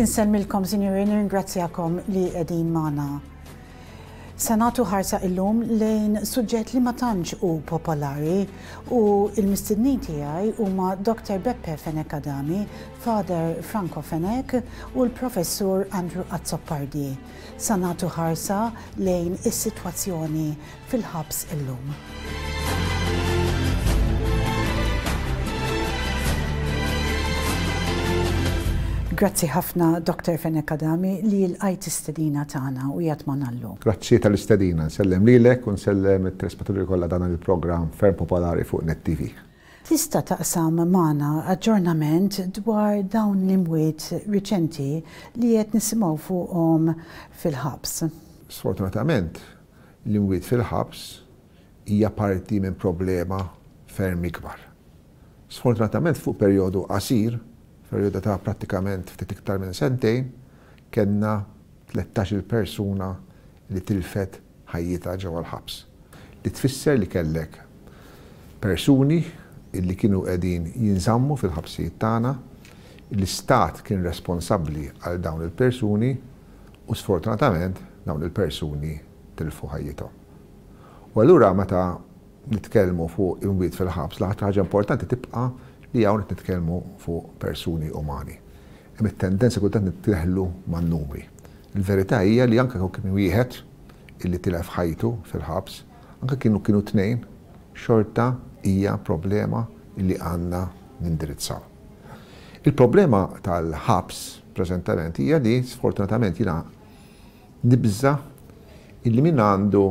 Insellmilkom, sinjuri, nirringrazzjakom li qegħdin magħna. Se nagħtu ħarsa illum lejn suġġett li ma tantx hu popolari u l-mistednin tiegħi huma Dr. Beppe Fenech Adami, Father Franco Fenech u l-Professur Andrew Azzopardi. Sa nagħtu ħarsa lejn is-sitwazzjoni fil-ħabs illum. Grazzi ħafna Dr. Fenech Adami li lqajt istedina tagħna u qiegħed magħna llum. Grazzi tal-istedina, nsellem lilek u nsellem it-telespettaturi kollha dan il-programm ferm popolari fuq Net TV. Tista' taqsam magħna aġġornament dwar dawn l-imwiet riċenti li qed nisimgħu fuqhom fil-ħabs? Sfortunatament, L-imwiet fil-ħabs hija parti minn problema ferm ikbar. Sfortunatament fuq perjodu qasir, perjodu ta' prattikament ftit iktar minn sentejn, kellna tlettax-il persuna li tilfet ħajjitha ġewwa l-ħabs. Li tfisser li kellek persuni li kienu qegħdin jinżammu fil-ħabsijiet tagħna, l-istat kien responsabbli għal dawn il-persuni u sfortunatament dawn il-persuni tilfu ħajjithom. U allura meta nitkellmu fuq imwiet fil-ħabs, l-aktar ħaġa importanti tibqa' li hawn qed nitkellmu fuq persuni umani. Hemm it-tendenza kultant nitleħlu man-numri. Il-verità hija li anke kieku kien wieħed illi tilef ħajtu fil-ħabs, anke kienu kienu tnejn, xorta hija problema illi għandna nindirizzaw. Il-problema tal-ħabs preżentament hija li sfortunatament jiena nibża' illi min għandu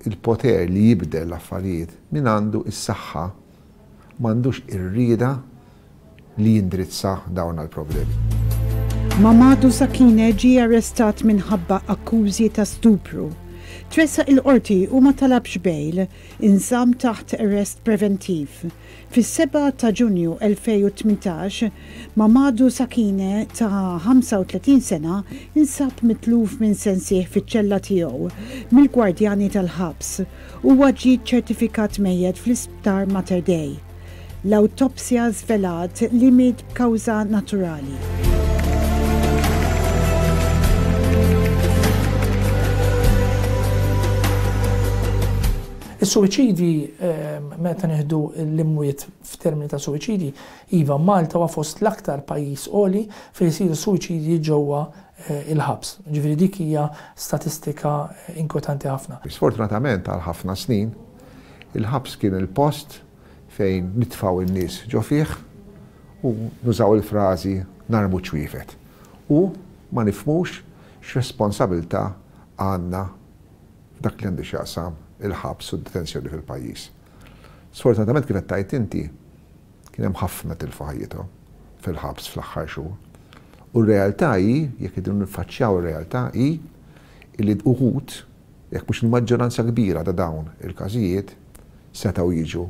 l-poter li jibdel l-affarijiet, min għandu s-saħħa m'għandux ir-rieda li jindirizza dawn l-problemi. Mamadou Sakine ġie arrestat minħabba akkużi ta' stupru. Tressaq il-Qorti u ma talabx bail, inżamm taħt arrest preventiv. Fis-7 ta' Ġunju 2018, Mamadou Sakine ta' 35 sena insab mitluf minn sensih fiċ-ċella tiegħu mill-gwardjani tal-ħabs. Huwa ġie ċċertifikat mejjet fl-Isptar Mater Dei. L-awtopsja żvelat li miet b'kawża naturali. Is-suwiċidji, meta nieħdu l-imwiet f'termini ta' suwiċidji, iva, Malta huwa fost l-aktar pajjiż għoli fejn isiru suwiċidji ġewwa l-ħabs. Jiġifieri dik hija statistika inkwetanti ħafna. Sfortunatament għal ħafna snin, il-ħabs kien il-post fejn nitfgħu n-nies ġo fih u nużaw il-frażi narmu ċ-ċwievet u ma nifhmux x'responsabilità għandna f'dak li għandu x'jaqsam il-ħabs u d-detenzjoni fil-pajjiż. Sfortunatament kif qed tgħid inti, kien hemm ħafna tilfu ħajjithom fil-ħabs fl-aħħar xhur. U r-realtà hi, jekk irridu niffaċċjaw ir-realtà hi, illi uħud, jekk mhux il-maġġoranza kbira ta' dawn il-każijiet setgħu jiġu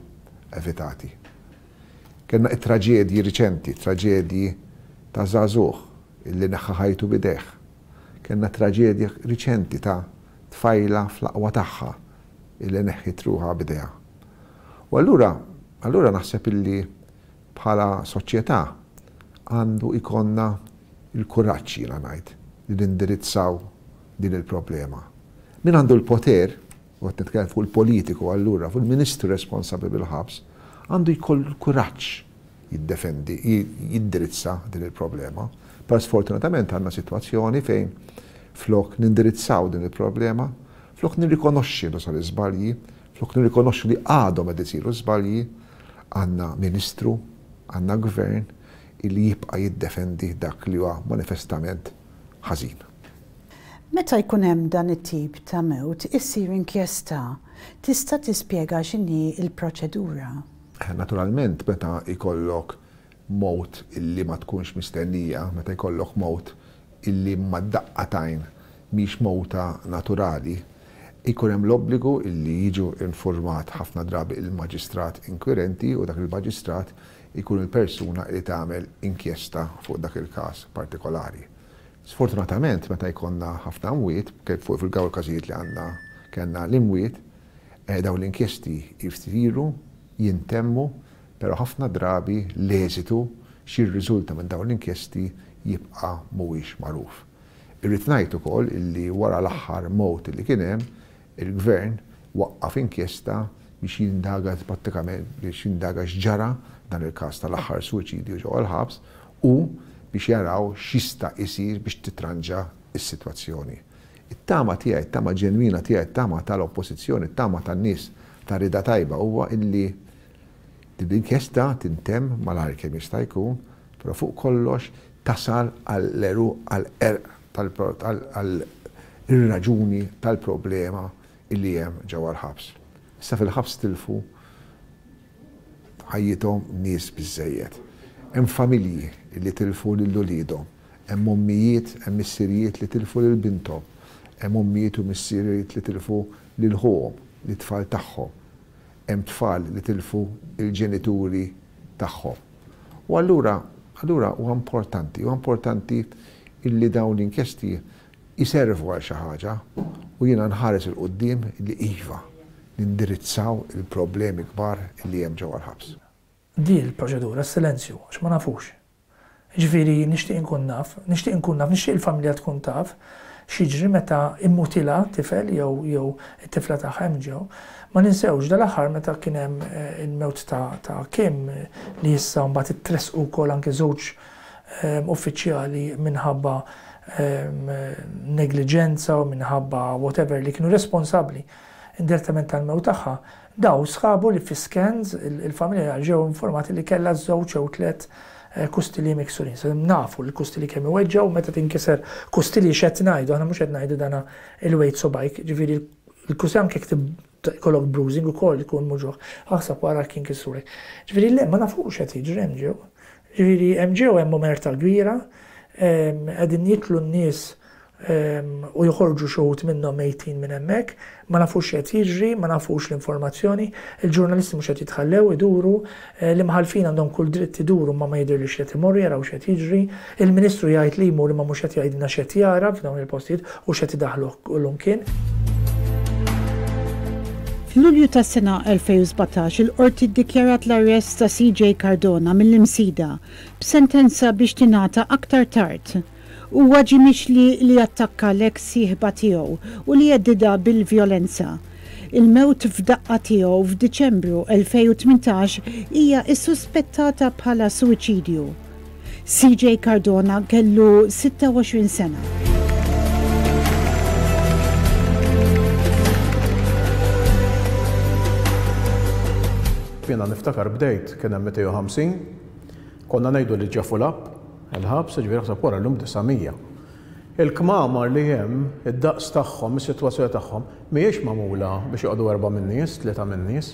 evitati. Kellna t-traġedji riċenti, traġedji ta' żagħżugħ illi neħħa ħajtu b'idejh. Kellna traġedja riċenti ta' tfajla fl-aqwa tagħha illi neħħiet ruħha b'idejha. U allura, allura naħseb illi bħala soċjetà għandu jkollna l-kuraġġ jiena ngħid li nindirizzaw din il-problema. Min għandu l-poter, u qed nitkellem fuq il-politiku allura, fuq il-ministru responsabbli bil-ħabs, għandu jkollu l-kuraġġ jiddefendi, jindirizza din il-problema. Però sfortunatament għandna sitwazzjoni fejn flok nindirizzaw din il-problema, flok nirrikonoxxi li saru żbalji, flok nirrikonoxxu li għadhom qed isiru żbalji, għandna ministru, għandna gvern illi jibqa' jiddefendi dak li huwa manifestament ħażin. Meta jkun hemm dan it-tip ta' mewt issir inkjesta. Tista' tispjega x'inhi l-proċedura? Naturalment meta jkollok mewt illi ma tkunx mistennija, meta jkollok mewt illi mad-daqqa t'għajn mhix mewta naturali, ikun hemm l-obbligu illi jiġu infurmat ħafna drabi il-maġistrat inkwirenti u dak il-maġistrat ikun il-persuna illi tagħmel inkjesta fuq dak il-każ partikolari. Sfortunatament meta jkollna ħafna mwiet, kif fuq fil-dawn il-każijiet li għandna kellna l-imwiet, Dawn l-inkjesti jsiru, jintemmu, però ħafna drabi l-eżitu x'jirriżulta minn dawn l-inkjesti jibqa' mhuwiex magħruf. Irrid ngħid ukoll illi wara l-aħħar mewt illi kien hemm, il-Gvern waqqaf inkjesta biex jindaga prattikament biex jindaga x'ġara f'dan il-każ tal-aħħar suwiċidju ġewwa l-ħabs u biex jaraw x'jista' jsir biex titranġa s-sitwazzjoni. It-tama tiegħi, it-tama ġenwina tiegħi, it-tama tal-Oppożizzjoni, it-tama tan-nies ta' rieda tajba huwa illi din l-inkjesta tintemm malajr kemm jista' jkun, però fuq kollox tasal għall-għeruq, għall-għerq għall-raġuni tal-problema illi hemm ġewwa l-ħabs. Issa fil-ħabs tilfu ħajjithom nies biżżejjed. Hemm familji li tilfu lil uliedhom, hemm ommijiet, hemm missirijiet li tilfu lil binthom, hemm ommijiet u missirijiet li tilfu lil ħuhom, lit-tfal tagħhom, hemm tfal li tilfu l-ġenituri tagħhom. U allura, allura huwa importanti, huwa importanti illi dawn l-inkjesti jservu għal xi ħaġa u jiena nħares 'il quddiem li iva, nindirizzaw il-problemi kbar li hemm ġewwa l-ħabs. Di l-proċedura, s-silenzju, għax ma nafux. Jiġifieri nixtieq inkun naf, nixtieq inkun naf, nixtieq il-familja tkun taf x'jiġri meta immutilha tifel jew jew it-tifla tagħha hemm ġew. Ma ninsewx dal-aħħar meta kien hemm il-mewt ta' ta' Kim li issa mbagħad ittressqu wkoll anke żewġ uffiċjali minħabba negliġenza u minħabba whatever li kienu responsabbli indirettament tal-mewt tagħha, daw sħabu li fi scans il-familja ġew informati li kellha żewġ jew tlett kustili miksurin. So nafu li l-kustili kemm iweġġgħu meta tinkiser kustili x'qed ngħidu, aħna mhux qed ngħidu dana il-weight subgħajk, ġifieri l-kustili anke jekk ikollok bruising ukoll ikun muġugħ, aħseb wara jekk jinkisrulek. Ġifieri le ma nafux x'qed jiġri hemm ġew. Ġifieri hemm ġew hemm omerta kbira, qegħdin jidħlu n-nies u joħorġu xi wħud minnhom mejtin minn hemmhekk, ma nafux x'qed jiġri, ma nafux l-informazzjoni, il-ġurnalisti mhux qed jitħallew iduru, l-imħallfin għandhom kull dritt iduru imma ma jidhirlix li qed imorru jaraw x'qed jiġri, il-Ministru jgħid li jmur imma mhux qed jgħidilna x'qed jara f'dawn il-postijiet u x'qed idaħħluh kullimkien. F'Lulju tas-sena 2017 il-Qorti ddikjarat l-arrest ta' CJ Cardona mill-Imsida b'sentenza biex tingħata aktar tard. Huwa ġie mixli li attakka l-eks sieħba tiegħu u li heddidha bil-vjolenza. Il-mewt f'daqqa tiegħu f'Diċembru 2018 hija ssuspettata bħala suwiċidju. CJ Cardona kellu 26 sena. Jiena niftakar bdejt kien hemm 250, konna ngħidu li ġa full up il-ħabs, jiġifieri aħseb wara llum 900. Il-kmamar li hemm, id-daqs tagħhom, is-sitwazzjoni tagħhom, mhijiex magħmula biex joqogħdu erba' min-nies, tlieta min-nies.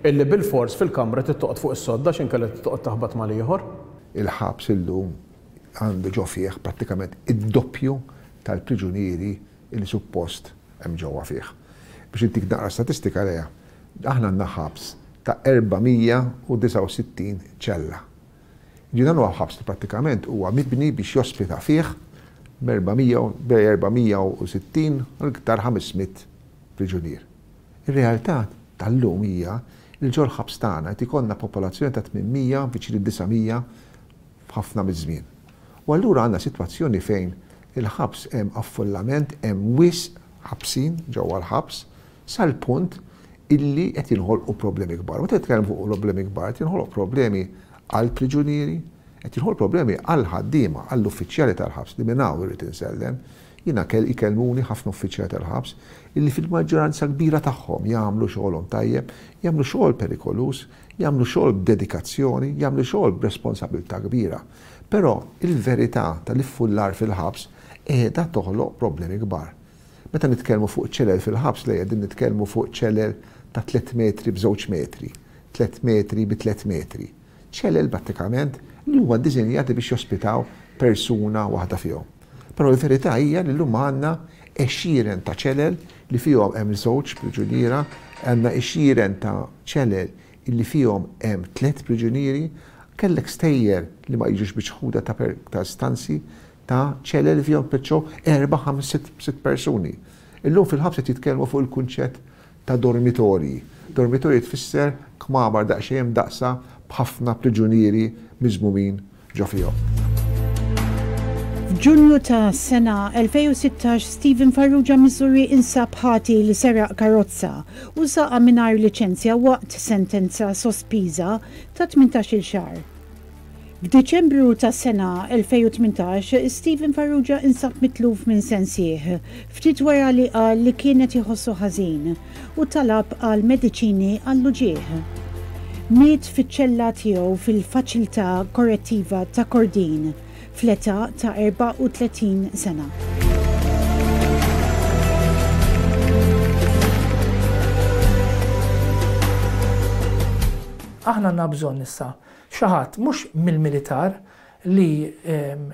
Illi bilfors fil-kamra trid toqgħod fuq is-sodda għax inkella trid toqgħod taħbat mal-ieħor. Il-ħabs illum għandu ġo fih prattikament id-doppju tal-priġunieri li suppost hemm ġewwa fih. Biex intik naqra statistika Lea, aħna għandna ħabs ta' 469 ċella. Jiġifieri dan huwa ħabs li prattikament huwa mibni biex jospita fih bejn 460 u l-iktar 500 priġunier. Ir-realtà tal-lum hija li ġol-ħabs tagħna qed ikollna popolazzjoni ta' 800 viċin id-900 f'ħafna miż-żmien. U allura għandna sitwazzjoni fejn il-ħabs hemm affollament, hemm wisq ħabsin ġewwa l-ħabs sal-punt illi qed jinħolqu problemi kbar. Meta nitkellem fuq problemi kbar, qed jinħoloq problemi għall-priġunieri, qed jinħolqu problemi għall-ħaddiema, għall-uffiċjali tal-ħabs li minn hawn irrid insellem. Jiena ikellmuni ħafna uffiċjali tal-ħabs illi fil-maġġoranza kbira tagħhom jagħmlu xogħolhom tajjeb, jagħmlu xogħol perikoluż, jagħmlu xogħol b'dedikazzjoni, jagħmlu xogħol b'responsabilità kbira. Però il-verità tal-iffullar fil-ħabs qiegħda toħloq problemi kbar. Meta nitkellmu fuq ċelel fil-ħabs le qegħdin nitkellmu fuq ċelel ta' tlett metri b'żewġ metri, tlett metri bi tlett metri. Ċelel prattikament li huma ddisinjati biex jospitaw persuna waħda fihom. Però l-verità hija li llum għandna għexieren ta' ċelel li fihom hemm żewġ priġuniera, għandna għexieren ta' ċelel illi fihom hemm tlett priġunieri, kellek stejjer li ma jiġux miċħuda ta' ta' istanzi ta' ċelel li fihom tpeċċew erba', ħames, sitt persuni. Illum fil-ħabs qed jitkellmu fuq il-kunċett ta' dormitorji. Dormitorji tfisser kmamar daqsxejn imdaqqsa b'ħafna priġunieri miżmumin ġo fihom. F'Ġunju ta' sena 2016 Stephen Farrugia Missouri insab ħati li seraq karozza u saqha mingħajr liċenzja waqt sentenza sospiża ta' 18-il xahar. F'Diċembru tas-sena 2018, Stephen Farrugia insab mitluf minn sensih, ftit wara li qal li kien qed iħossu ħażin u talab għal mediċini għall-uġigħ. Miet fiċ-ċella tiegħu fil-Faċiltà Korrettiva ta' Kordin fl-età ta' 34 sena. Aħna għandna bżonn issa Xi ħadd mhux mill-militar li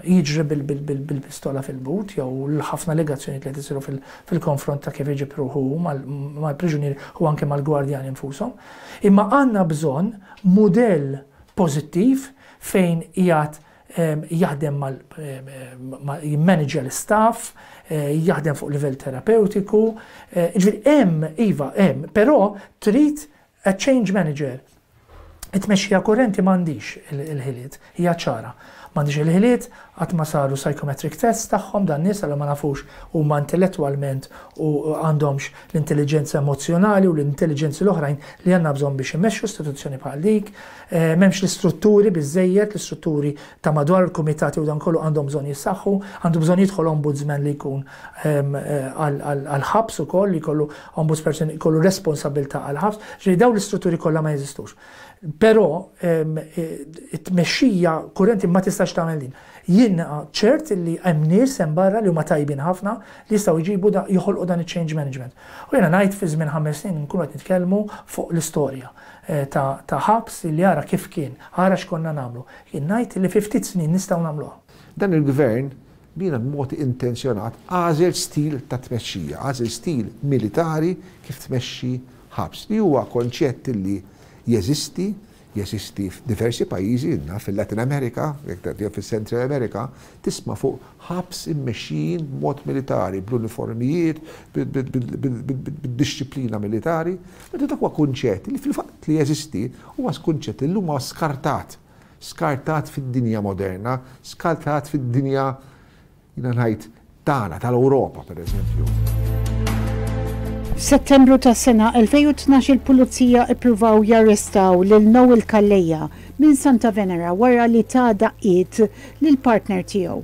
jiġri bil-pistola fil-but jew l-ħafna allegazzjonijiet li qed isiru fil-konfront ta' kif iġib ruħu hu mal-priġunieri u anke mal-gwardjani nfushom. Imma għandna bżonn mudell pożittiv fejn qiegħed jaħdem mal jimmaniġja l-istaff, jaħdem fuq livell terapewtiku. Jiġifieri hemm, iva hemm, però trid A change manager. It-tmexxija kurrenti m'għandhiex il-ħiliet, hija ċara. M'għandhiex il-ħiliet, qatt ma saru psychometric tests tagħhom dan nies allura ma nafux huma intellettwalment u għandhomx l-intelliġenza emozzjonali u l-intelliġenzi l-oħrajn li għandna bżonn biex imexxu istituzzjoni bħal dik. M'hemmx l-istrutturi biżżejjed, l-istrutturi ta' madwar il-kumitati u dan kollu għandhom bżonn jissaħħu, għandu bżonn jidħol ombudsman li jkun għall-ħabs ukoll, li jkollu ombudsperson jkollu responsabbiltà għall-ħabs, ġifieri dawn l-istrutturi kollha ma jeżistux. Però it-tmexxija kurrenti ma tistax tagħmel din. Jien ċert li hemm nies hemm barra li huma tajbin ħafna li jistgħu jġibu joħolqu dan iċ-change management. U jiena ngħid fi żmien ħames snin nkunu qed nitkellmu fuq l-istorja ta' ħabs li ara kif kien, ara x'konna nagħmlu. Jien ngħid li fi ftit snin nistgħu nagħmluha. Dan il-Gvern Jiena b'mod intenzjonat għażel stil ta' tmexxija, għażel stil militari kif tmexxi ħabs, li huwa konċett li jeżisti, jeżisti f'diversi pajjiżi, naf fil-Latin America, jew fis-Central America, tisma' fuq ħabs immexxijin b'mod militari, bl-uniformijiet, bid-dixxiplina militari. Meta dak huwa kunċett li fil-fatt li jeżisti, huwa kunċett li llum huwa skartat. Skartat fid-dinja moderna, skartat fid-dinja, jiena ngħid, tagħna, tal-Ewropa, pereżempju. F'Settembru tas-sena 2012 il-Pulizija ippruvaw jarrestaw lil Noel Calleja minn Santa Venera wara li ta daqqiet lill-partner tiegħu.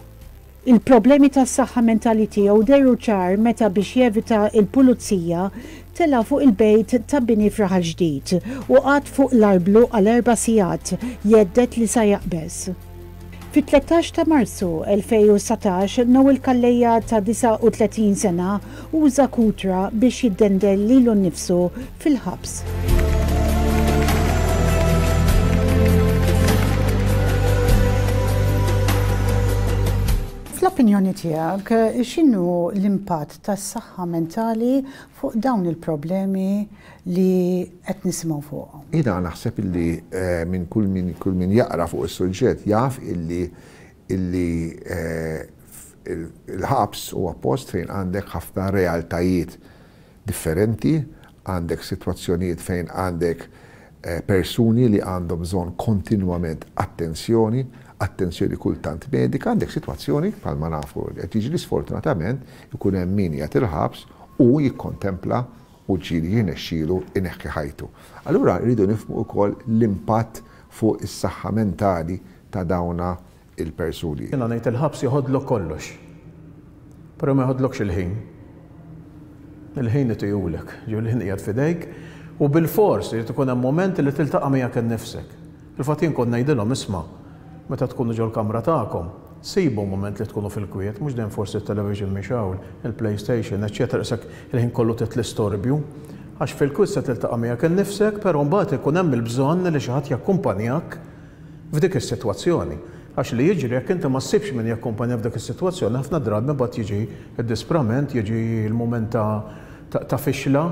Il-problemi tas-saħħa mentali tiegħu dehru ċar meta biex jevita l-pulizija tela' fuq il-bejt ta' bini f'Raħal Ġdid u qagħad fuq l-arblu għal erba' sigħat jhedded li sa jaqbeż. Fit-13 ta' Marzu 2019 Noel Calleja ta' 39 sena uża kutra biex jiddendel lilu nnifsu fil-ħabs. Fl-opinjoni tiegħek, x'inhu l-impatt tas-saħħa mentali fuq dawn il-problemi li qed nisimgħu fuqhom? Jiena naħseb illi minn kull min kull min jaqra fuq is-suġġett jaf illi illi il-ħabs huwa post fejn għandek ħafna realtajiet differenti, għandek sitwazzjonijiet fejn għandek persuni li għandhom bżonn kontinwament attenzjoni, attenzjoni kultant medika, għandek sitwazzjoni bħalma nafu li qed jiġri sfortunatament ikun hemm min qiegħed il-ħabs u jikkontempla u ġieli jirnexxielu jneħħi ħajtu. Allura rridu nifhmu wkoll l-impatt fuq is-saħħa mentali ta' dawna il-persuni. Jiena ngħid il-ħabs joħodlok kollox. Però ma joħodlokx il-ħin. Il-ħin itihulek, ġifieri l-ħin qiegħed f'idejk u bilfors irid ikun hemm mument li tiltaqa' miegħek innifsek. Fil-fatt jien kont ngħidilhom isma' meta tkunu ġol-kamra tagħkom, sibu mument li tkunu fil-kwiet, mhux dejjem forsi t-television mixgħul, il-playstation, eċċetera qisek il-ħin kollu trid l-istorbju. Għax fil-kwiet se tiltaqa' miegħek innifsek, però mbagħad ikun hemm il-bżonn li xi ħadd jakkumpanjak f'dik is-sitwazzjoni. Għax li jiġri jekk inti ma ssibx min jakkumpanja f'dik is-sitwazzjoni ħafna drabi mbagħad jiġi d-disprament, jiġi l-mument ta' ta' fixla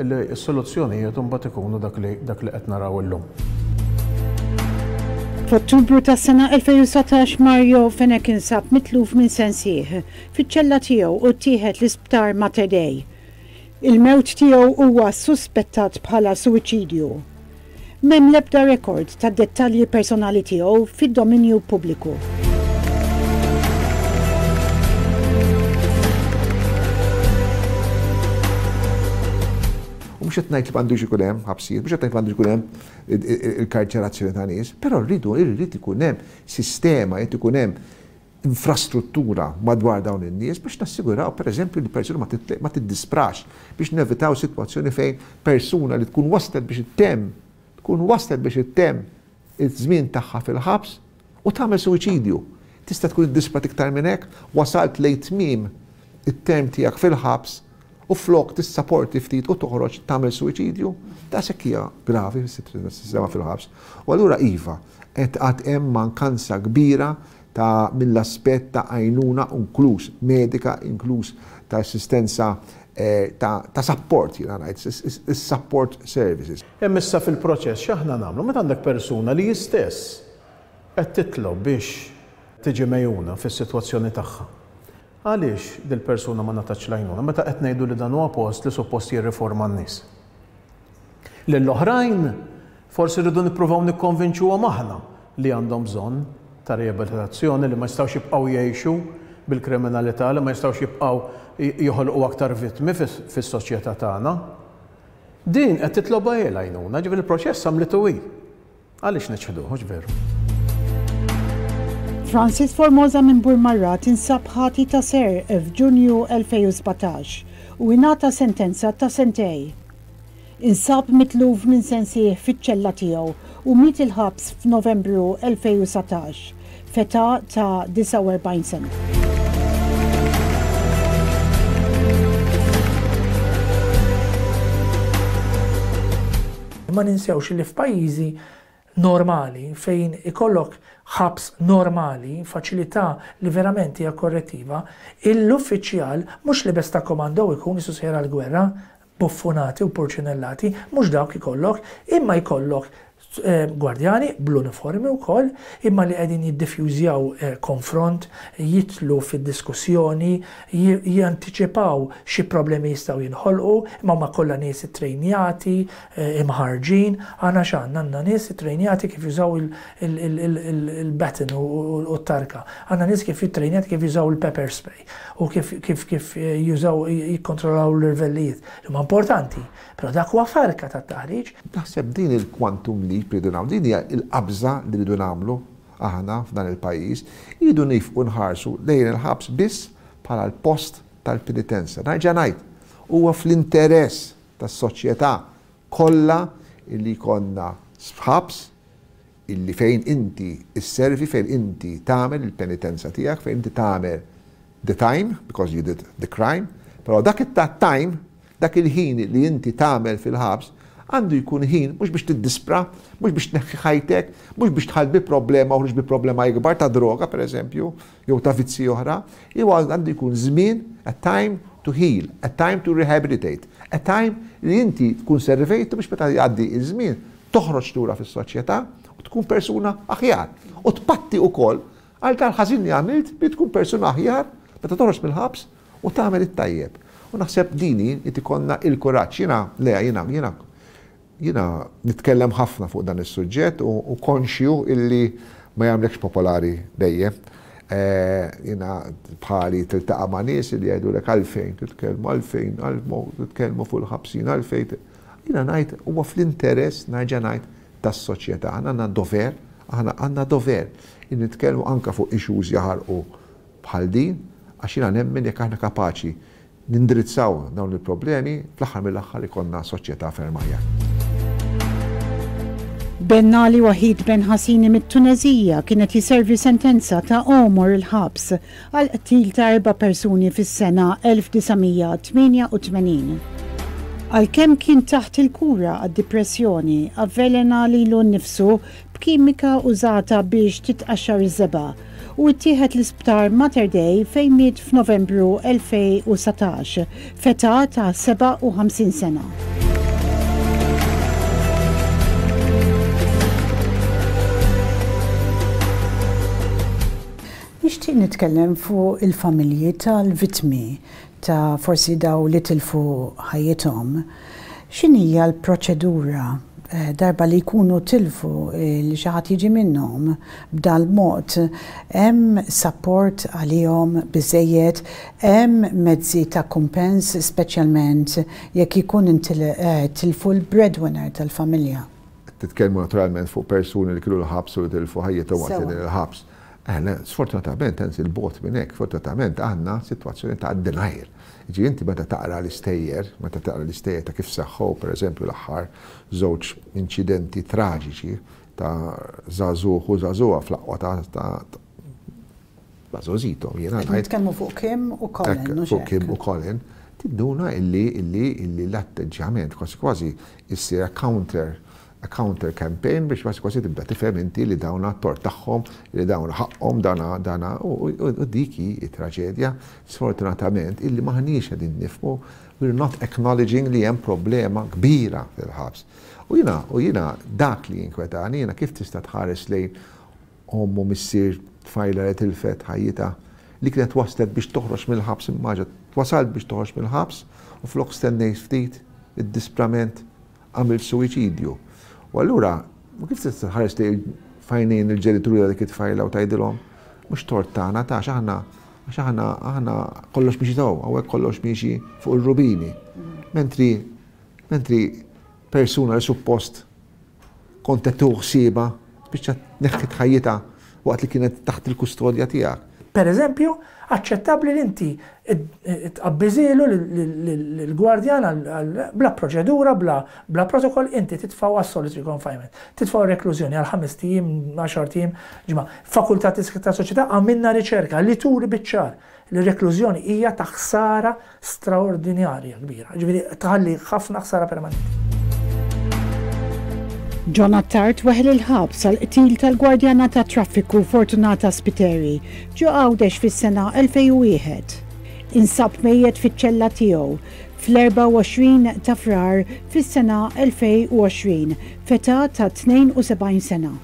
li s-soluzzjonijiet imbagħad ikunu dak li dak li qed naraw illum. F'Ottubru tas-sena 2019 Mario Fenech insab mitluf minn sensih fiċ-ċella tiegħu u ttieħed l-Isptar Mater Dei. Il-mewt tiegħu huwa ssuspettat bħala suwiċidju. M'hemm l-ebda rekord tad-dettalji personali tiegħu fid-dominju pubbliku. U mhux qed ngħid li m'għandux ikun hemm ħabsijiet, mhux qed ngħid li m'għandux ikun hemm il-karċerazzjoni ta' nies, però rridu irrid ikun hemm sistema, jrid ikun hemm infrastruttura madwar dawn in-nies biex nassiguraw pereżempju li persuna ma tiddisprax, biex nevitaw sitwazzjoni fejn persuna li tkun waslet biex ittemm tkun waslet biex ittemm iż-żmien tagħha fil-ħabs u tagħmel suwiċidju. Tista' tkun iddisprat iktar minn hekk? Wasalt lejn tmiem it-term tiegħek fil-ħabs u flok tissaporti ftit u toħroġ tagħmel suwiċidju? Daqshekk hija gravi s-sistema fil-ħabs. U allura iva, qed għad hemm mankanza kbira ta' mill-aspett ta' għajnuna inkluż medika, inkluż ta' assistenza ta' sapport jiena ngħid, is-support services. Hemm issa fil-proċess x'aħna nagħmlu meta għandek persuna li hi stess qed titlob biex tiġi megħjuna fis-sitwazzjoni tagħha. Għaliex dil-persuna ma ngħatatx l-għajnuna meta qed ngħidu li dan huwa post li suppost jirriforma n-nies? Lill-oħrajn forsi rridu nippruvaw nikkonvinċuhom aħna li għandhom bżonn ta' riabilitazzjoni, li ma jistgħux jibqgħu jgħixu bil-kriminalità, li ma jistgħux jibqgħu joħolqu aktar vittmi fis-soċjetà tagħna. Din qed titlobha hi l-għajnuna, ġifieri l-proċess għamlitu hi. Għaliex niċħduh, hux veru? Francis Formosa minn Burmarrad insab ħati ta' serq f'Ġunju 2017 u ingħata sentenza ta' sentej. Insab mitluf minn sensih fiċ-ċella tiegħu u miet il-ħabs f'Novembru 2019, f'età ta' 49 sena. Ma ninsewx li f'pajjiżi normali fejn ikollok ħabs normali, faċilità li verament hija korrettiva, l-uffiċjal mhux libes ta' komando ikun qisu sejjer għall-gwerra, buffunati u purċinellati, mhux dawk ikollok, imma jkollok gwardjani bl-uniformi wkoll, imma li qegħdin jiddifjużjaw konfront, jidħlu fid-diskussjoni, jantiċipaw xi problemi jistgħu jinħolqu, imma huma kollha nies ittrejnjati, imħarrġin. Aħna x'għandna? Għandna nies ittrejnjati kif jużaw il-baton u t-tarka. Għandna nies kif ittrejnjati kif jużaw il-pepper spray. u kif kif kif jużaw jikkontrollaw l-irvellijiet li huma importanti, però dak huwa farka tat-taħriġ. Naħseb din il-quantum leap li rridu nagħmlu, din hija l-qabża li rridu nagħmlu aħna f'dan il-pajjiż, irridu nifqu nħarsu lejn il-ħabs biss bħala l-post tal-penitenza. Nerġa' ngħid, huwa fl-interess tas-soċjetà kollha li jkollna ħabs illi fejn inti sservi, fejn inti tagħmel il-penitenza tiegħek, fejn inti tagħmel the time, because you did the crime, però dak it-time, dak il-ħin li inti tagħmel fil-ħabs, għandu jkun ħin mhux biex tiddispra, mhux biex tneħħi ħajtek, mhux biex dħalt bi problema u ħriġt bi problema ikbar ta' droga pereżempju, jew ta' vizzji oħra, jew għandu jkun żmien, a time to heal, a time to rehabilitate, a time li inti tkun servejtu biex meta jgħaddi ż-żmien toħroġ lura fis-soċjetà u tkun persuna aħjar. U tpatti wkoll għal dal-ħażin li għamilt bi tkun persuna aħjar meta toħroġ mill-ħabs u tagħmel it-tajjeb. U naħseb din hi li ikollna il-kuraġġ. Jiena, Lea, jiena, jiena, jiena nitkellem ħafna fuq dan is-suġġett u konxju illi ma jagħmlekx popolari dejjem. Jiena bħali tiltaqa' ma' nies li jgħidulek għalfejn titkellmu, għalfejn, titkellmu fuq il-ħabsin, għalfejn. Jiena ngħid huwa fl-interess, nerġa' ngħid, tas-soċjetà. Aħna għandna dover, aħna għandna dover li nitkellmu anke fuq issues jaħarqu bħal din, għax jiena nemmen jekk aħna kapaċi nindirizzaw dawn il-problemi, fl-aħħar mill-aħħar ikollna soċjetà ferm aħjar. Bennali Wahid Ben Hassini mit-Tuneżija kien qed jiservi sentenza ta' għomor il-ħabs għall-qtil ta' erba' persuni fis-sena 1988. Għalkemm kien taħt il-kura għad-dipressjoni, avvelena lilu nnifsu b'kimika użata biex titqaxxar iż-żebgħa u ttieħed l-Isptar Mater Dei fejn miet f'Novembru 2019 f'età ta' 57 sena. Nixtieq nitkellem fuq il-familji tal-vittmi ta' forsi daw li tilfu ħajjithom. X'inhija l-proċedura? Darba li jkunu tilfu li xi ħadd jiġi minnhom b'dal-mod, hemm sapport għalihom biżżejjed, hemm mezzi ta' kumpens speċjalment jekk ikun tilfu l-breadwinner tal-familja? Qed titkellmu naturalment fuq persuni li kienu l-ħabs u li tilfu ħajjithom waqt li qegħdin il-ħabs. Le, sfortunatament, anzi 'l bogħod minn hekk, sfortunatament għandna sitwazzjoni ta' denial. Jiġifieri inti meta taqra l-istejjer, meta taqra l-istejjer ta' kif seħħew pereżempju l-aħħar żewġ inċidenti traġiċi ta' żagħżugħ u żagħżugħa fl-aqwa ta' ta' żgħożithom, jiena ngħid. Nitkellmu fuq Kim u Colin, mhux hekk? Fuq Kim u Colin, tinduna illi illi illi l-atteġġjament kważi kważi issir a counter a counter campaign biex kważi kważi tibda tifhem inti li dawna t-tort tagħhom, li dawna ħaqqhom, dana dana u dik hi t-traġedja sfortunatament illi m'aħniex qegħdin nifhmu, we're not acknowledging li hemm problema kbira fil-ħabs. U jiena u jiena dak li jinkwetani, jiena kif tista' tħares lejn omm u missier tfajla li tilfet ħajjitha li kienet waslet biex toħroġ mill-ħabs immaġa wasalt biex toħroġ mill-ħabs u flok stennejt ftit id-disprament għamilt suwiċidju. U allura, kif tista' tħares lejn f'għajnejn il-ġenituri ta' dik it-tfajla u tgħidilhom, mhux tort tagħna ta' għax aħna għax aħna aħna kollox miexi sew, hawnhekk kollox miexi fuq ir-rubini. Mentri mentri persuna li suppost kont qed tieħu ħsiebha spiċċat neħħiet ħajjitha waqt li kienet taħt il-kustodja tiegħek. Per eżempju, aċċettabbli li inti tqabbiżielu lill-gwardjan bla proċedura, bla protokoll, inti titfgħu għas-solitary confinement. Titfgħu għar-reklużjoni għal ħamest ijiem, għaxart ijiem, ġimgħa. Fakultà ta' Soċjetà għamilna riċerka li turi biċ-ċar li r-reklużjoni hija ta' ħsara straordinarja kbira, jiġifieri tħalli ħafna ħsara permanenti. John Attard weħel il-ħabs għall-qtil tal-gwardjana tat-traffiku Fortunata Spiteri ġo Għawdex fis-sena 2001. Insab mejjet fiċ-ċella tiegħu fl-24 ta' Frar fis-sena 2020 f'età ta' 72 sena.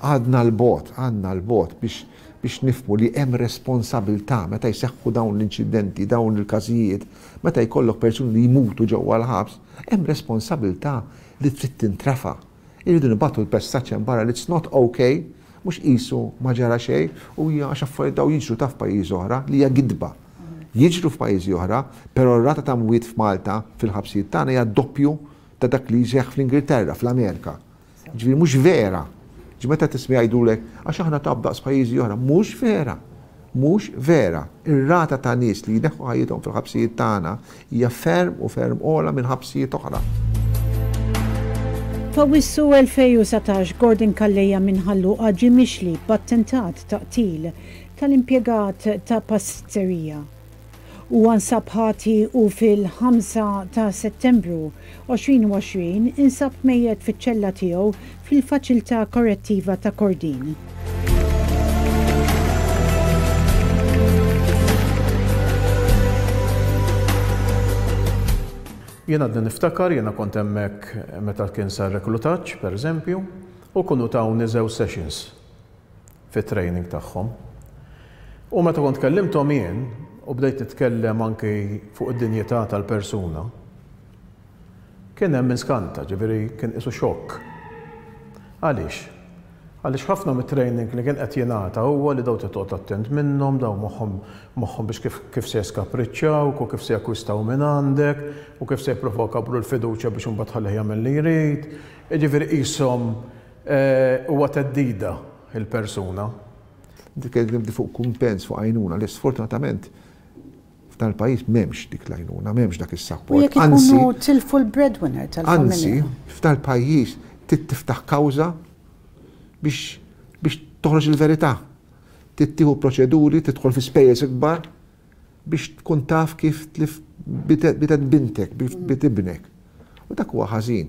Għadna 'l bogħod, għadna 'l bogħod biex biex nifhmu li hemm responsabilità meta jseħħu dawn l-inċidenti, dawn il-każijiet, meta jkollok persuni li jmutu ġewwa l-ħabs, hemm responsabilità li trid tintrefa'. Irridu nibagħtu l-messaġġ hemm barra li it's not ok, mhux qisu ma ġara xejn u hija għax affarijiet dawn jiġru taf f'pajjiżi oħra li hija gidba. Jiġru f'pajjiżi oħra, però r-rata ta' mwiet f'Malta fil-ħabsijiet tagħna hija d-doppju ta' dak li jseħħ fl-Ingilterra, fl-Amerika. Jiġifieri mhux vera. Jiġifieri meta tisma' jgħidulek għax aħna taf daqs pajjiżi oħra, mhux vera. Mhux vera. Ir-rata ta' nies li jneħħu ħajjithom fil-ħabsijiet tagħna hija ferm u ferm ogħla minn ħabsijiet oħra. F'Awwissu 2019 Gordon Calleja minn Ħal Luqa ġie mixli b'attentat ta' qtil tal-impjegat ta' pastizzerija. Huwa nsab ħati u fil-5 ta' Settembru 2020 insab mejjet fiċ-ċella tiegħu fil-Faċiltà Korrettiva ta' Kordin. Jien għadni niftakar, jiena kont hemmhekk meta kien sar reklutaġġ, pereżempju, u kienu tawni żewġ sessions. fit-training tagħhom. U meta kont kellimthom jien u bdejt nitkellem anki fuq id-dinjità tal-persuna, kien hemm min skanta, ġifieri kien qisu xokk. Għaliex? Għaliex ħafna mit-training li kien qed jingħata huwa li dawn trid toqgħod attent minnhom, dawn moħħhom moħħhom biex kif kif se jeskapriċċawk u kif se jakkwistaw minn għandek u kif se jippruvaw ikabbru l-fiduċja biex imbagħad tħallih jagħmel li jrid. Jiġifieri qishom Huwa theddida il-persuna. Inti tkellimtni fuq kumpens, fuq għajnuna, li sfortunatament f'dan il-pajjiż m'hemmx dik l-għajnuna, m'hemmx dak is-sapport. U jekk ikunu tilfu l-breadwinner tal-familja. Anzi, f'dan il-pajjiż trid tiftaħ kawża biex biex toħroġ il-verità. Trid tieħu proċeduri, tidħol fi spejjeż ikbar biex tkun taf kif tlift bitet bintek, bit ibnek. U dak huwa ħażin.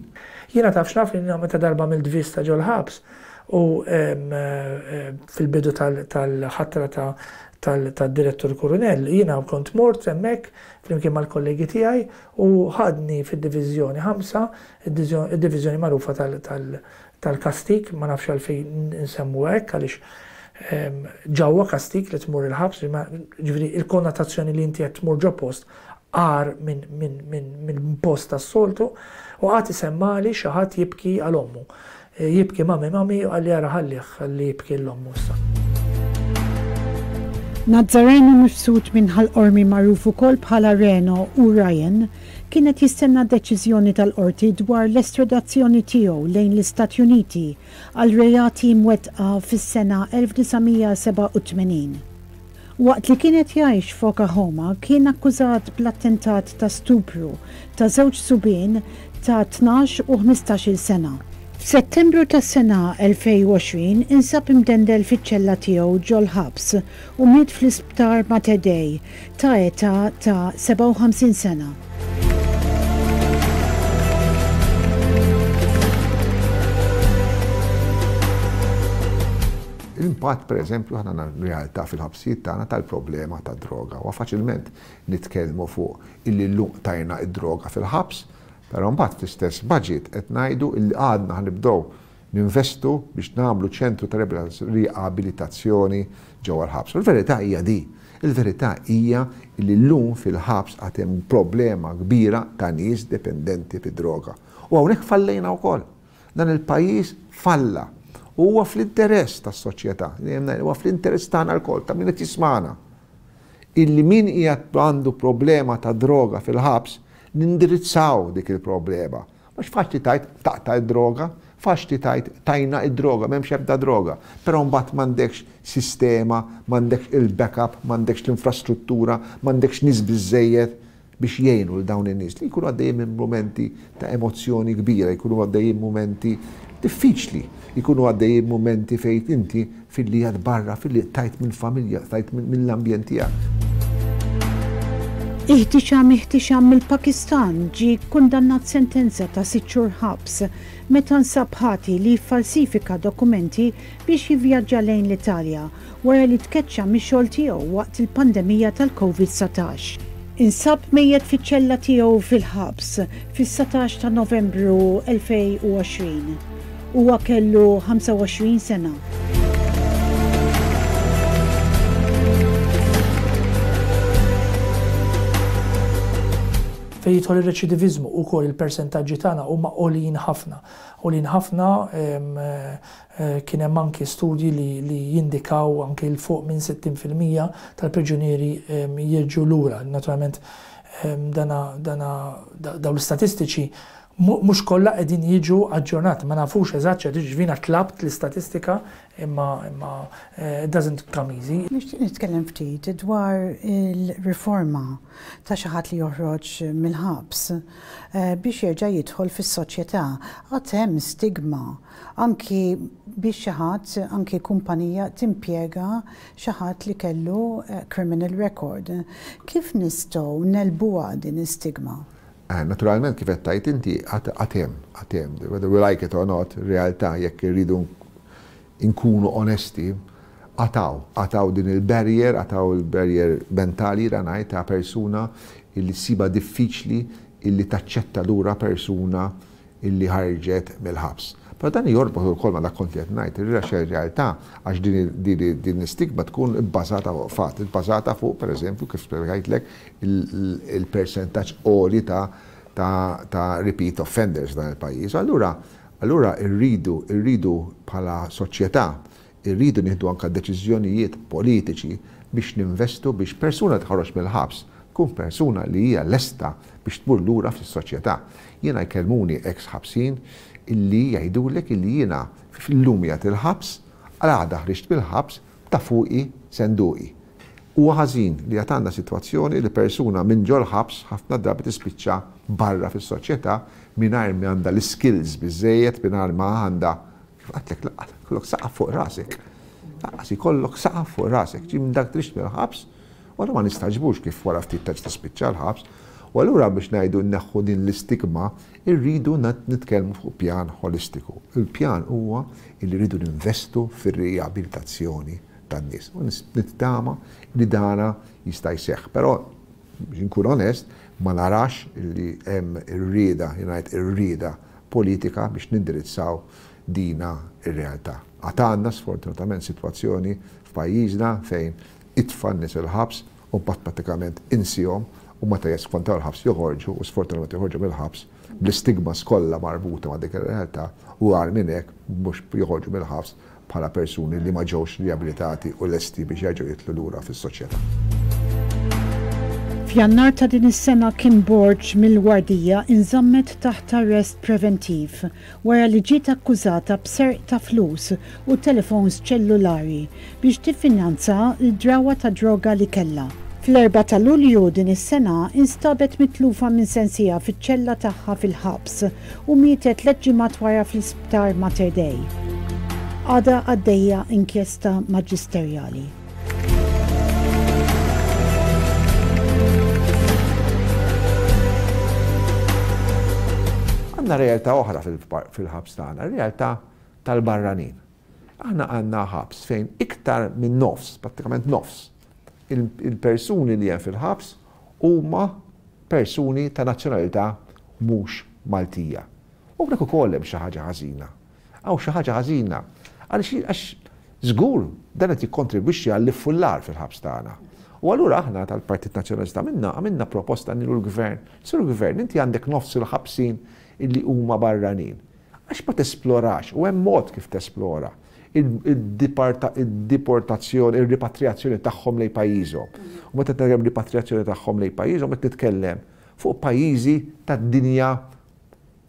Jiena taf x'naf li meta darba għamilt vista ġol-ħabs u fil-bidu tal-ħatra tad-Direttur Kurunell, jiena kont mort hemmhekk flimkien mal-kollegi tiegħi u ħadni fid-diviżjoni ħamsa, id-diviżjoni magħrufa tal-kastig, ma nafx għalfejn insemmuha hekk għaliex. Ġa huwa kastig li tmur il-ħabs, ġifieri il-konnotazzjoni li inti qed tmur ġo post agħar minn post tas-soltu, u qagħad isemmagħli xi ħadd jibki għal ommu. Jibki mami mami u qalli ara ħallih ħalli jibki 'l ommu issa. Nazzareno Mifsud minn Ħal Qormi magħruf ukoll bħala Reno u Ryan kien qed jistenna deċiżjoni tal-Qorti dwar l-estradazzjoni tiegħu lejn l-Istati Uniti għal reati mwettqa fis-sena 1987. Waqt li kien qed jgħix f'Okahoma kien akkużat bl-attentat ta' stupru ta' żewġ subien ta' 12 u 15-il sena. F'Settembru tas-sena 2020 insab imdendel fiċ-ċella tiegħu ġol-ħabs u miet fl-Isptar Mater Dei ta' età ta' 57 sena. L-impatt, per eżempju, aħna għandna realtà fil-ħabsijiet tagħna tal-problema tad-droga. Huwa faċilment nitkellmu fuq illi llum qtajna d-droga fil-ħabs, però mbagħad fl-istess budget qed ngħidu illi għadna ħa nibdew ninvestu biex nagħmlu ċentru ta' riabilitazzjoni ġewwa l-ħabs. U l-verità hija di. Il-verità hija illi llum fil-ħabs għad hemm problema kbira ta' nies dipendenti mid-droga. U hawnhekk fallejna wkoll. Dan il-pajjiż falla. U huwa fl-interess tas-soċjetà, dejjem ngħid, huwa fl-interess tagħna lkoll, ta' min qed jismagħna, illi min qiegħed għandu problema ta' droga fil-ħabs nindirizzaw dik il-problema. Mhux faċli tgħid taqta' d-droga, faċli tgħid tajna d-droga, m'hemmx ebda droga, però mbagħad m'għandekx sistema, m'għandekx il-backup, m'għandekx l-infrastruttura, m'għandekx nies biżżejjed biex jgħinu lil dawn in-nies li jkunu għaddejjin minn mumenti ta' emozzjoni kbira, jkunu għaddejjin mumenti diffiċli, jkunu għaddejjin mumenti fejn inti filli qiegħed barra, filli qtajt mill-familja, qtajt mill-ambjent tiegħek. Ihtisham Ihtisham mill-Pakistan ġie kkundannat sentenza ta' sitt xhur ħabs meta nsab ħati li ffalsifika dokumenti biex jivvjaġġa lejn l-Italja wara li tkeċċa mix-xogħol tiegħu waqt il-pandemija tal-Covid 19. Insab mejjet fiċ-ċella tiegħu fil-ħabs fis-19 ta' Novembru 2020. Huwa kellu 25 sena. Fejn jidħol ir-reċidiviżmu ukoll il-persentaġġi tagħna huma għoljin ħafna. Għoljin ħafna Kien hemm anki studji li jindikaw anki 'l fuq minn 60% tal-priġunieri jerġgħu lura. Naturalment dana dana dawn l-istatistiċi mhux kollha qegħdin jiġu aġġornati, ma nafux eżatt x'qed jiġri, jiena tlabt l-istatistika imma imma it doesn't come easy. Nixtieq nitkellem ftit dwar il-riforma ta' xi ħadd li joħroġ mill-ħabs biex jerġa' jidħol fis-soċjetà. Għad hemm stigma Anki biex xi ħadd, anki kumpanija timpjega xi ħadd li kellu criminal record. Kif nistgħu negħlbuha din l-istigma? Naturalment kif qed tgħid inti għad hemm, għad hemm, whether we like it or not, realtà jekk irridu nkunu onesti, għad hawn, għad hawn din il-barrier, għad hawn il-barrier mentali jiena ngħid ta' persuna illi ssibha diffiċli illi taċċetta lura persuna illi ħarġet mill-ħabs. Però dan jorbot ukoll ma' dak kont li qed ngħid, għax ir-realtà, għax din din l-istigma tkun ibbażata fuq fatt, ibbażata fuq pereżempju kif spjegajtlek il-persentaġġ għoli ta' ta' ta' repeat offenders f'dan il-pajjiż. Allura allura rridu rridu bħala soċjetà Irridu nieħdu anke deċiżjonijiet politiċi biex ninvestu biex persuna li tħroġ mill-ħabs tkun persuna li hija lesta biex tmur lura fis-soċjetà. Jiena jkellmuni eks ħabsin illi jgħidulek illi jiena llum qiegħed il-ħabs, għada ħriġt mill-ħabs ta' fuqi senduqi. Huwa ħażin li għad għandna sitwazzjoni li persuna minn ġol-ħabs ħafna drabi tispiċċa barra fis-soċjetà mingħajr ma għandha l-iskills biżżejjed, mingħajr ma għandha Kif għedtlek lanqas ikollok saqaf fuq rasek. Lanqas ikollok saqaf fuq rasek. Ġie minn dak trixx mill-ħabs, u allura ma nistagħġbux kif wara ftit terġa' tispiċċa l-ħabs. U allura biex ngħidu nneħħu din l-istigma, irridu nitkellmu fuq pjan ħolistiku. Il-pjan huwa li rridu ninvestu fir-riabilitazzjoni tan-nies. U nittama li dana jista' jseħħ. Però biex inkun onest, ma narax li hemm ir-rieda, jien ngħid ir-rieda politika biex nindirizzaw dina r-realtà. Għad għandna sfortunatament sitwazzjoni f'pajjiżna fejn itfa' n-nies il-ħabs u mbagħad prattikament insihom u meta jiskontaw il-ħabs joħorġu u sfortunatament joħorġu mill-ħabs bl-istigmas kollha marbuta ma' dik ir-realtà u agħar minn hekk mhux joħorġu mill-ħabs bħala persuni li ma ġewx riabilitati u lesti biex jerġgħu jidħlu lura fis-soċjetà. F'Jannar ta' din is-sena Kim Borg mill-Wardija inżammet taħt arrest preventiv wara li ġiet akkużata b'serq ta' flus u telefons ċellulari biex tiffinanza l-drawwa ta' droga li kellha. Fl-erbgħa ta' Lulju din is-sena instabet mitlufa minn sensiha fiċ-ċella tagħha fil-ħabs u mietet tlett ġimgħat wara fl-Isptar Mater Dei. Għadha għaddejja inkjesta maġisterjali. Għandna realtà oħra fil-ħabs tagħna, realtà tal-barranin. Aħna għandna ħabs fejn iktar minn nofs, prattikament nofs, il-persuni li hemm fil-ħabs huma persuni ta' nazzjonalità mhux Maltija. U hawnhekk ukoll hemm xi ħaġa ħażina. Hawn xi ħaġa ħażina. Għaliex għax żgur dan qed jikkontribwixxi għall-iffullar fil-ħabs tagħna. U allura aħna tal-Partit Nazzjonalista għamilna għamilna proposta lilu l-Gvern. Sur Gvern, inti għandek nofs il-ħabsin illi huma barranin. Għax ma tesplorax, u hemm mod kif tesplora, id-deportazzjoni, ir-ripatrijazzjoni tagħhom lejn pajjiżhom. U meta nitkellem ripatrijazzjoni tagħhom lejn pajjiżhom qed nitkellem fuq pajjiżi tad-dinja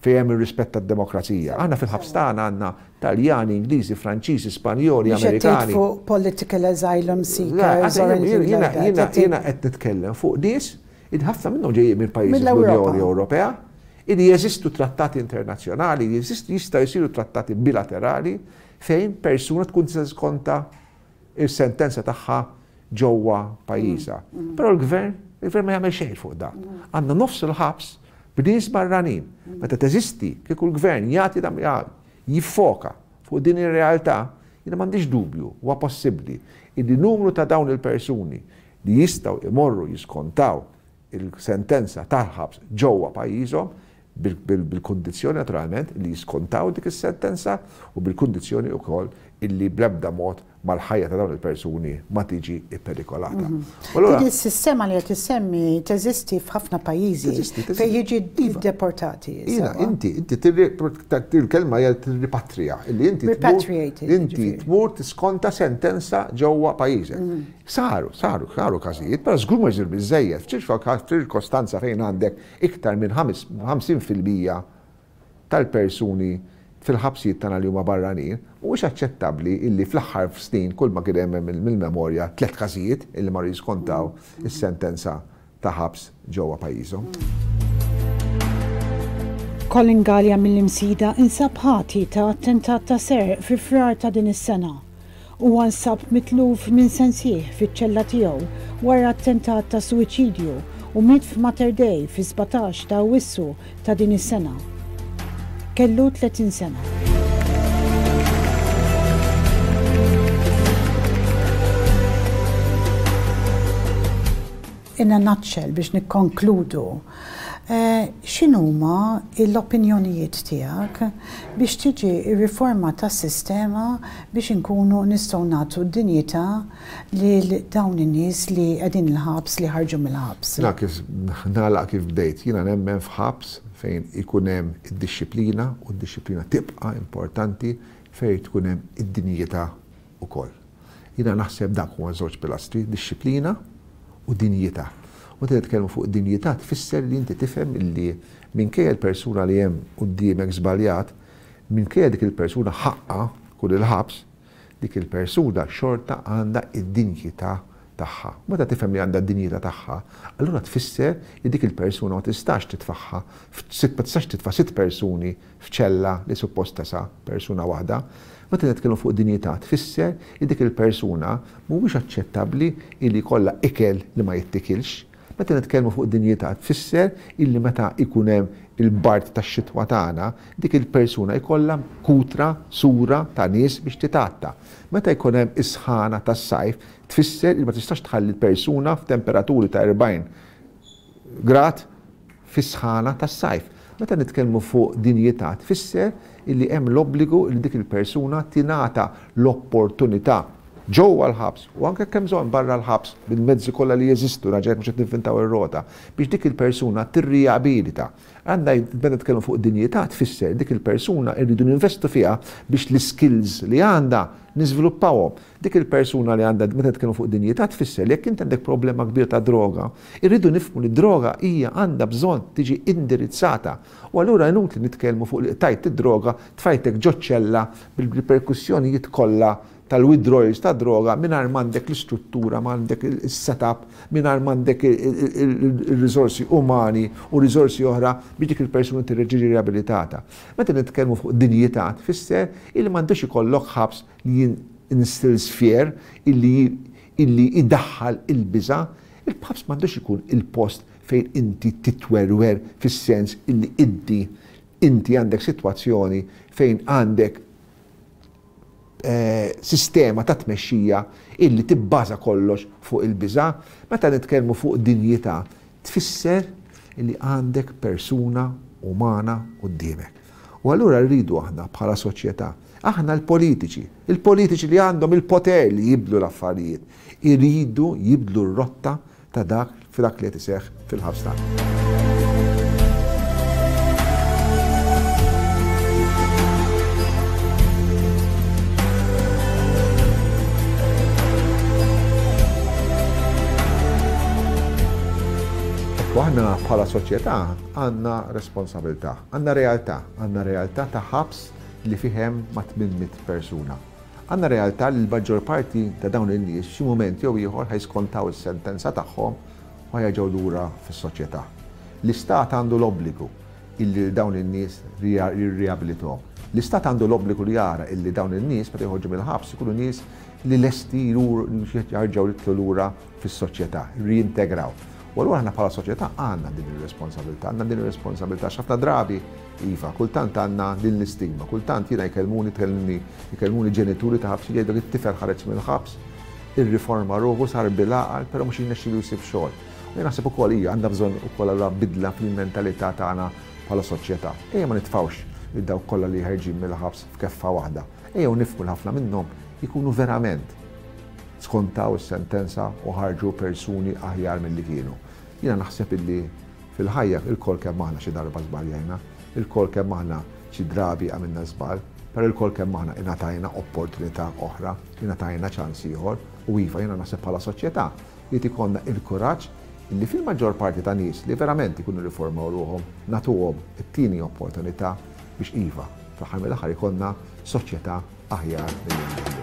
fejn hemm ir-rispett tad-demokrazija. Aħna fil-ħabs tagħna għandna Taljani, Ingliżi, Franċiżi, Spanjoli, Amerikani. Mhux qed tgħid fuq political asylum seekers or anything like that. Jiena qed nitkellem fuq nies li ħafna minnhom ġejjin minn pajjiżi fl-Unjoni Ewropea Illi jeżistu trattati internazzjonali, jeżistu jistgħu jsiru trattati bilaterali fejn persuna tkun tista' tiskonta s-sentenza tagħha ġewwa pajjiżha. Però l-gvern, il-gvern ma jagħmel xejn fuq dan. Għandna nofs il-ħabs b'nies barranin. Meta teżisti, kieku l-gvern jagħti jiffoka fuq din ir-realtà, jiena m'għandix dubju, huwa possibbli illi numru ta' dawn il-persuni li jistgħu imorru jiskontaw il-sentenza tal-ħabs ġewwa pajjiżhom bil-kundizzjoni naturalment li jiskontaw dik is-sentenza u bil-kundizzjoni wkoll illi bl-ebda mod ma l-ħajja ta' dawn il-persuni ma tiġi pperikolata. U allura. Din is-sistema li qed issemmi teżisti f'ħafna pajjiżi fejn jiġi deportati. Ina, inti, inti il-kelma hija tirripatrija, illi inti inti tmur tiskonta sentenza ġewwa pajjiżek. Saru, saru, saru każijiet, però żgur ma jsir biżżejjed. F'ċirkostanza fejn għandek iktar minn 50% tal-persuni fil-ħabsijiet tagħna li huma barranin, mhuwiex aċċettabbli illi fl-aħħar snin kull ma kien hemm mill-memorja tlett każijiet illi marru jiskontaw is-sentenza ta' ħabs ġewwa pajjiżhom. Colin Galea mill-Imsida insab ħati ta' attentat ta' serq fi Frar ta' din is-sena. Huwa nsab mitluf minn sensih fiċ-ċella tiegħu wara attentat ta' suwiċidju u miet f'Mater Dei fis-17 ta' Awwissu ta' din is-sena. Kellu 30 sena. In a nutshell, biex nikkonkludu, x'inhuma l-opinjonijiet tiegħek biex tiġi rriformata s-sistema biex inkunu nistgħu nagħtu d-dinjità lil dawn in-nies li qegħdin il-ħabs li ħarġu mill-ħabs? Jiena kif nagħlaq kif bdejt, jiena nemmen f'ħabs fejn ikun hemm id-dixxiplina u d-dixxiplina tibqa' importanti fejn tkun hemm id-dinjità ukoll. Jiena naħseb dak huma żewġ pilastri, dixxiplina u dinjità. U meta nitkellmu fuq dinjità tfisser li inti tifhem illi minkejja l-persuna li hemm quddiemek żbaljat, minkejja dik il-persuna ħaqqha tkun il-ħabs, dik il-persuna xorta għandha d-dinjità tagħha. U meta tifhem li għandha d-dinjità tagħha, allura tfisser li dik il-persuna ma tistax titfagħha ma tistax titfa' sitt persuni f'ċella li suppost tesa' persuna waħda. Meta nitkellmu fuq dinjità tfisser li dik il-persuna mhuwiex aċċettabbli illi jkollha ikel li ma jittikilx. Meta nitkellmu fuq dinjità tfisser illi meta jkun hemm il-bard tax-xitwa tagħna, dik il-persuna jkollha kutra, sura ta' nies biex titgħatta. Meta jkun hemm is-sħana tas-sajf tfisser li ma tistax tħalli l-persuna f'temperaturi ta' 40 grad fis-sħana tas-sajf. Meta nitkellmu fuq dinjità tfisser illi hemm l-obbligu li dik il-persuna tingħata l-opportunità ġewwa l-ħabs u anke jekk hemm bżonn barra l-ħabs bil-mezzi kollha li jeżistu, raġa' mhux qed nivvintaw ir-rota, biex dik il-persuna tirrijabilita. Għandna meta nitkellmu fuq dinjità tfisser dik il-persuna rridu ninvestu fiha biex l-iskills li għandha niżviluppawhom. Dik il-persuna li għandha, meta nitkellmu fuq dinjità tfisser li jekk inti għandek problema kbira ta' droga, irridu nifhmu li d-droga hija għandha bżonn tiġi indirizzata. U allura inutli nitkellmu fuq li qtajt id-droga, tfajtek ġo ċella bil-riperkussjonijiet kollha tal-withdrawals tad-droga mingħajr m'għandek l-istruttura, m'għandek is-set-up, mingħajr m'għandek ir-riżorsi umani u riżorsi oħra biex dik il-persuna tiġi riabilitata. Meta nitkellmu fuq dinjità tfisser illi m'għandux ikollok ħabs li instills fear, illi illi jdaħħal il-biża'. Il-ħabs m'għandux ikun il-post fejn inti titwerwer fis-sens illi inti inti għandek sitwazzjoni fejn għandek sistema ta' tmexxija illi tibbaża kollox fuq il-biża'. Meta nitkellmu fuq dinjità tfisser illi għandek persuna umana quddiemek. U allura rridu aħna bħala soċjetà, aħna l-politiċi, il-politiċi li għandhom il-poter li jibdlu l-affarijiet, iridu jibdlu r-rotta ta' dak f'dak li qed iseħħ fil-ħabs tagħna. Ekku aħna bħala soċjetà għandna responsabilità, għandna realtà, għandna realtà ta' ħabs li fih hemm ma' 800 persuna. Għandna realtà li l-maġġor parti ta' dawn in-nies f'xi mument jew ieħor ħa jiskontaw is-sentenza tagħhom u ħa jerġgħu lura fis-soċjetà. L-Istat għandu l-obbligu illi lil dawn in-nies jirriabilithom. L-Istat għandu l-obbligu li jara illi dawn in-nies meta joħorġu mill-ħabs ikunu nies li lesti jerġgħu jidħlu lura fis-soċjetà, jirriintegraw. U allura aħna bħala soċjetà għandna din ir-responsabilità, għandna din ir-responsabilità għax ħafna drabi, iva, kultant għandna din l-istigma, kultant jiena jkellmuni, tkellmni, jkellmuni ġenituri ta' ħabsin jgħidlek it-tifel ħareġ mill-ħabs, irriforma ruħu, sar bil-għaqal, però mhux jirnexxilu jsib xogħol. U jien naħseb ukoll hija għandha bżonn ukoll allura bidla fil-mentalità tagħna bħala soċjetà. Ejja ma nitfgħux lil dawk kollha li ħerġin mill-ħabs f'keffa waħda. Ejjew nifhmu li ħafna minnhom ikunu verament skontaw is-sentenza u ħarġu persuni aħjar milli kienu. Jiena naħseb illi fil-ħajja ilkoll kemm aħna xi darba żbaljajna, ilkoll kemm aħna xi drabi għamilna żball, però ilkoll kemm aħna ingħatajna opportunità oħra, ingħatajna ċans ieħor u iva jiena naħseb bħala soċjetà jrid ikollna il-kuraġġ illi fil-maġġor parti ta' nies li verament ikunu rriformaw ruħhom nagħtuhom it-tieni opportunità biex iva, fl-aħħar mill-aħħar ikollna soċjetà aħjar milli għandna llum.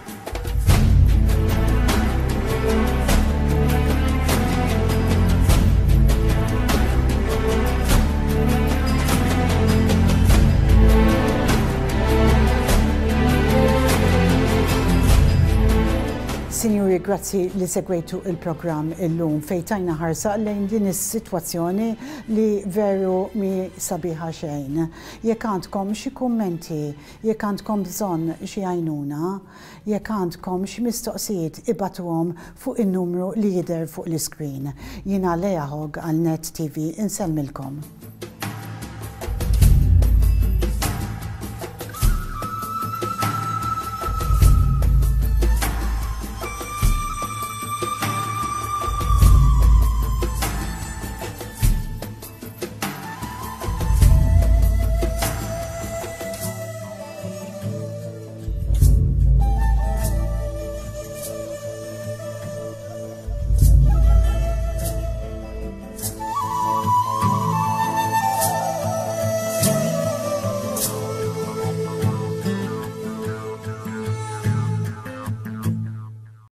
Sinjuri, grazzi li segwejtu il-programm illum fejn tajna ħarsa lejn din is-sitwazzjoni li veru mi sabiħa xejn. Jekk għandkom xi kummenti Jekk għandkom bżonn xi għajnuna, jekk għandkom xi mistoqsijiet ibagħtuhom fuq in-numru li jidher fuq l-iskrin. Jiena Leah Hogg għal Net TV insellmilkom.